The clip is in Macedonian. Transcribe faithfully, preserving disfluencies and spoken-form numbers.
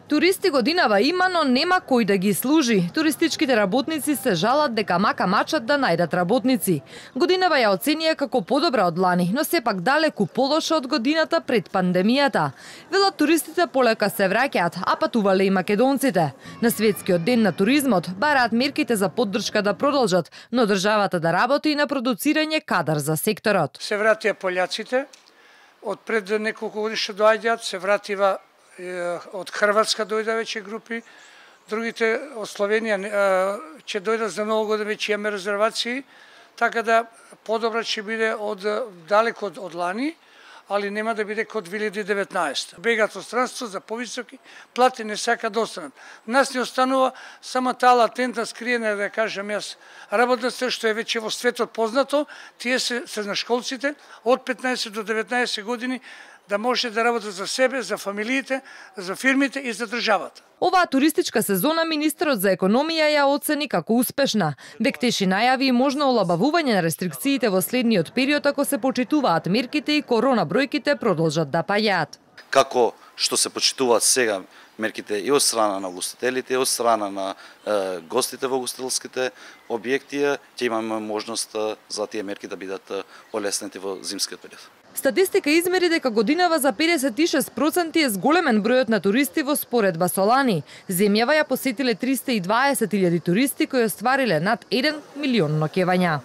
Туристи годинава има, но нема кој да ги служи. Туристичките работници се жалат дека мака мачат да најдат работници. Годинава ја оценија како подобра од лани, но сепак далеку полоша од годината пред пандемијата. Велат туристите полека се враќаат, а патувале и македонците. На светскиот ден на туризмот бараат мерките за поддршка да продолжат, но државата да работи и на продуцирање кадар за секторот. Се вратија пољаците, од пред неколку години што доаѓаат, се вратива од Хрватска дојда веќе групи, другите од Словенија ќе дојдат за Ново година, веќе имаме резервации, така да подобра ќе биде од далеко од, од лани, али нема да биде како две илјади и деветнаесета. Бегат од странство за повисоки плати, не сака да останат. Нас не останува само таа латентна скриена, да кажам јас, работната што е веќе во светот познато, тие се средношколците од петнаесет до деветнаесет години, да може да работат за себе, за фамилиите, за фирмите и за државата. Оваа туристичка сезона министерот за економија ја оцени како успешна. Бектеши најави и можно олабавување на рестрикциите во следниот период ако се почитуваат мерките и корона бројките продолжат да паѓаат. Како што се почитуваат сега мерките и од страна на ugostителите, и од страна на е, гостите во ugostителските објекти, ќе имаме можност за тие мерки да бидат олеснети во зимскиот период. Статистика измери дека годинава за педесет и шест проценти е зголемен бројот на туристи во споредба со лани. Земјава ја посетиле триста и дваесет илјади туристи кои оствариле над еден милион ноќевања.